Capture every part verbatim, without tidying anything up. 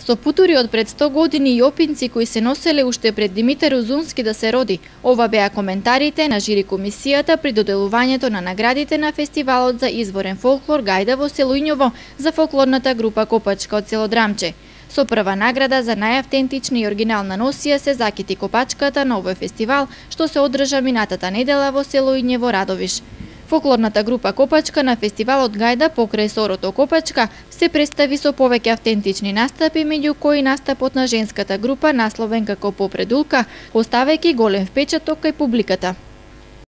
Со путури од пред сто години и опинци кои се носеле уште пред Димитар Узунски да се роди. Ова беа коментарите на жири комисијата при доделувањето на наградите на фестивалот за изворен фолклор Гајда во село Ињово за фолклорната група Копачка од село Драмче. Со прва награда за најавтентична и оригинална носија се закити Копачката на овој фестивал што се одржа минатата недела во село Ињево Радовиш. Фолклорната група Копачка на фестивалот Гајда покрај сорото Копачка се представи со повеќе автентични настапи, меѓу кои настапот на женската група насловен како Попредулка, оставајќи голем впечаток кај публиката.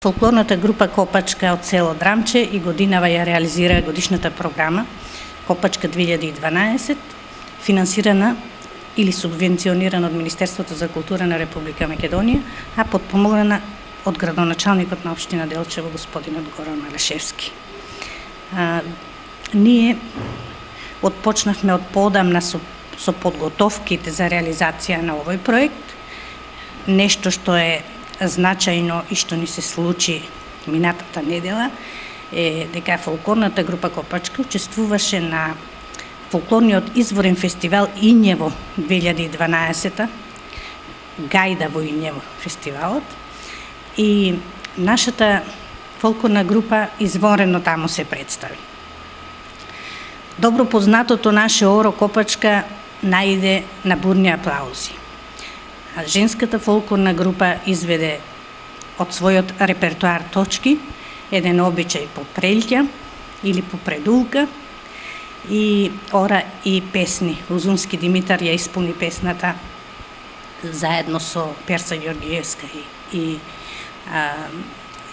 Фолклорната група Копачка од село Драмче и годинава ја реализира годишната програма Копачка две илјади и дванаесет, финансирана или субвенционирана од Министерството за култура на Република Македонија, а подпомогнана од градоначалникот на општина Делчево, господинот Горан Алешевски. А, ние отпочнавме од поодамна со, со подготовките за реализација на овој проект. Нешто што е значајно и што ни се случи минатата недела е дека фолклорната група Копачка учествуваше на фолклорниот изворен фестивал Ињево две илјади и дванаесета, Гајда во Ињево фестивалот, и нашата фолклорна група изворено таму се представи. Добро познатото наше оро Копачка најде на бурни аплаузи. А женската фолклорна група изведе од својот репертуар точки еден обичај по прелќа или по предулка и ора и песни. Узунски Димитар ја исполни песната заедно со Перса Ѓоргиевска и, и а,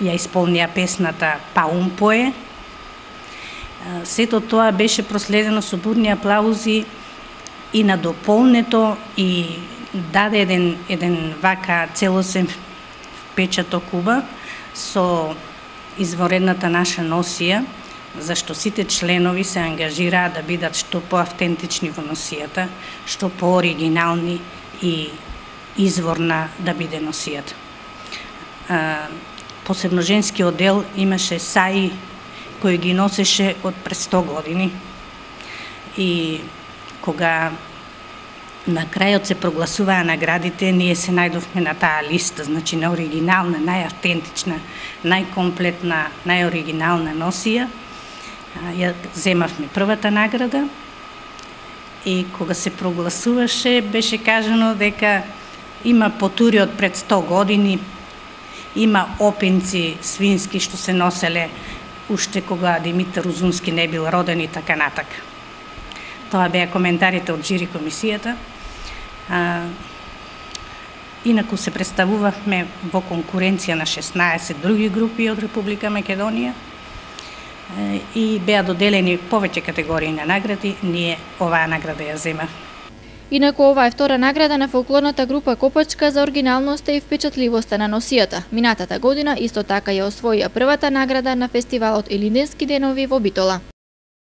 ја исполнија песната Паумпое. Сето тоа беше проследено со бурни аплаузи и надополнето и даде еден, еден вака целосен впечаток убав со изворедната наша носија, зашто сите членови се ангажираа да бидат што поавтентични во носијата, што пооригинални и изворна да биде носијата. Посебно женскиот дел имаше саи кој ги носеше од пред сто години и кога на крајот се прогласуваа наградите, ние се најдовме на таа листа, значи на оригинална, најавтентична, најкомплетна, најоригинална носија. Ја земавме првата награда и кога се прогласуваше беше кажано дека има потури од пред сто години, има опинци свински што се носеле уште кога Димитар Узунски не бил роден и така натака. Тоа беа коментарите од жири комисијата. А, инаку се представувавме во конкуренција на шеснаесет други групи од Република Македонија и беа доделени повеќе категории на награди, ние оваа награда ја земавме. Инаку ова е втора награда на фолклорната група Копачка за оригиналноста и впечатливоста на носијата. Минатата година исто така ја освоија првата награда на фестивалот Илинденски денови во Битола.